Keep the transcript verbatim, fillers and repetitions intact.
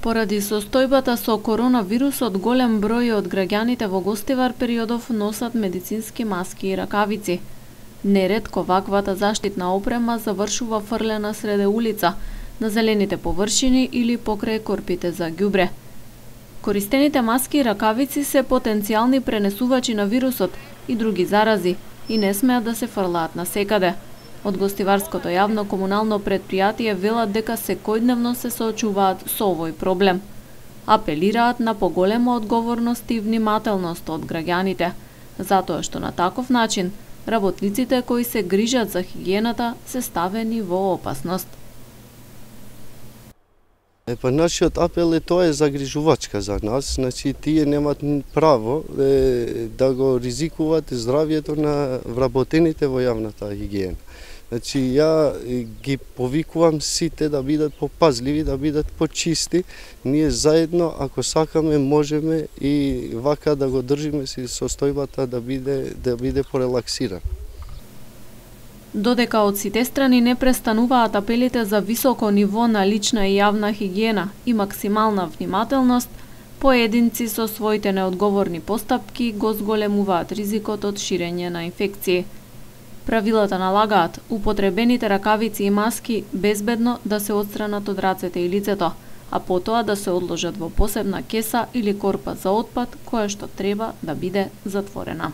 Поради состојбата со коронавирусот, голем број од граѓаните во Гостивар периодов носат медицински маски и ракавици. Неретко ваквата заштитна опрема завршува фрлена среде улица, на зелените површини или покрај корпите за ѓубре. Користените маски и ракавици се потенцијални пренесувачи на вирусот и други зарази и не смеат да се фрлаат насекаде. Од Гостиварското јавно комунално претпријатие велат дека секојдневно се соочуваат со овој проблем. Апелираат на поголема одговорност и внимателност од граѓаните, затоа што на таков начин работниците кои се грижат за хигиената се ставени во опасност. Е, па нашиот апел е тоа е загрижувачка за нас, значи тие немат право е, да го ризикуваат здравјето на вработените во јавната хигиена. Значи ја ги повикувам сите да бидат попазливи, да бидат почисти. Ние заедно, ако сакаме, можеме и вака да го држиме си состојбата да биде да биде порелаксирана. Додека од сите страни не престануваат апелите за високо ниво на лична и јавна хигиена и максимална внимателност, поединци со своите неодговорни постапки го зголемуваат ризикот од ширење на инфекции. Правилата налагаат употребените ракавици и маски безбедно да се отстранат од рацете и лицето, а потоа да се одложат во посебна кеса или корпа за отпад, која што треба да биде затворена.